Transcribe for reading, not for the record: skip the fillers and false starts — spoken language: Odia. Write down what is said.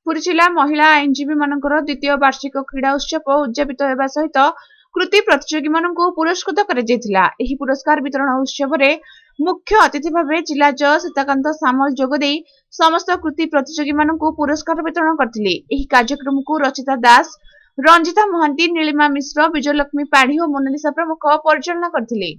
ପୁରୀ ଜିଲ୍ଲା ମହିଳା ଆଇନଜୀବୀମାନଙ୍କର ଦ୍ୱିତୀୟ ବାର୍ଷିକ କ୍ରୀଡ଼ା ଉତ୍ସବ ଉଦଯାପିତ ହେବା ସହିତ କୃତି ପ୍ରତିଯୋଗୀମାନଙ୍କୁ ପୁରସ୍କୃତ କରାଯାଇଥିଲା। ଏହି ପୁରସ୍କାର ବିତରଣ ଉତ୍ସବରେ ମୁଖ୍ୟ ଅତିଥି ଭାବେ ଜିଲ୍ଲା ଜଜ୍ ସୀତାକାନ୍ତ ସାମଲ ଯୋଗଦେଇ ସମସ୍ତ କୃତି ପ୍ରତିଯୋଗୀମାନଙ୍କୁ ପୁରସ୍କାର ବିତରଣ କରିଥିଲେ। ଏହି କାର୍ଯ୍ୟକ୍ରମକୁ ରଚିତା ଦାସ, ରଞ୍ଜିତା ମହାନ୍ତି, ନୀଳିମା ମିଶ୍ର, ବିଜୟଲକ୍ଷ୍ମୀ ପାଢୀ ଓ ମୋନାଲିସା ପ୍ରମୁଖ ପରିଚାଳନା କରିଥିଲେ।